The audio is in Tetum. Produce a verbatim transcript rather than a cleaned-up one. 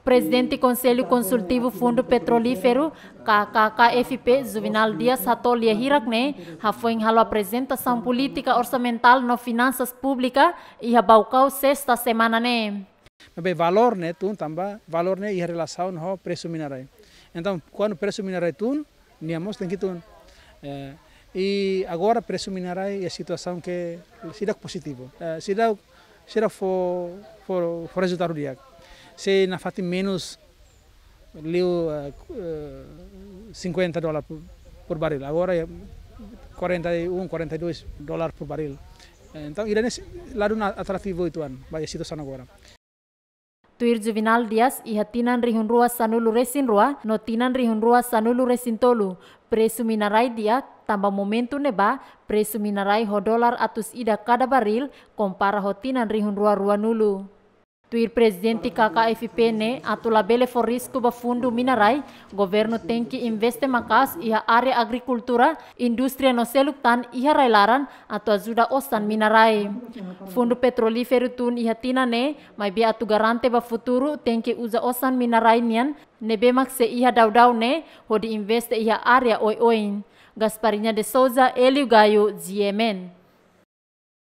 Prezidente Konsellu Konsultivu Fundu Petrolíferu, K K K F P, Juvenal Dias hato'o lia hirak ne'e, hafoin halo aprezentasaun polítika orsamentál no finansas públika iha Baucau, sesta semana ne'e. Maibé valór ne'e tun tanba, valór ne'e iha relasaun ho presu mina-rai. Entaun, kuandu presu mina-rai tun, nia mós tenke tun. Eh, i agora presu mina-rai iha situasaun ke seidauk pozitivu. Eh, seidauk, seidauk fó, fó, fó rezultadu di'ak. Se nafatin menus liu, eh, eh, cinquenta dólar por, por barril. Agora é quarenta e um, quarenta e dois dólar por barril. Eh, entaun, ida-ne'e sei ladu ona atrativu uitoan ba iha situasaun agora. Tuir Juvenal Dias, iha tinan rihun rua sanulu-resin-rua no tinan rihun rua sanulu-resin-tolu, presu mina-rai di'ak, tanba momentu ne'ebá presu mina-rai ho dólar atus ida kada barril, kompara ho tinan rihun rua ruanulu. Tuir Prezidente K K F P ne'e, atu labele fó risku ba fundu mina-rai, governu tenke investe maka'as iha área agrikultura, indústria no seluk tan iha rai-laran, atu ajuda osan mina-rai. Fundu Petrolíferu tun iha tinan ne'e, maibé atu garante ba futuru tenke uza osan mina-rai nian, ne'ebé mak sei iha daudaun ne'e, hodi investe iha área oioin. Gasparinha de Souza, Hélio Gaio, G M N.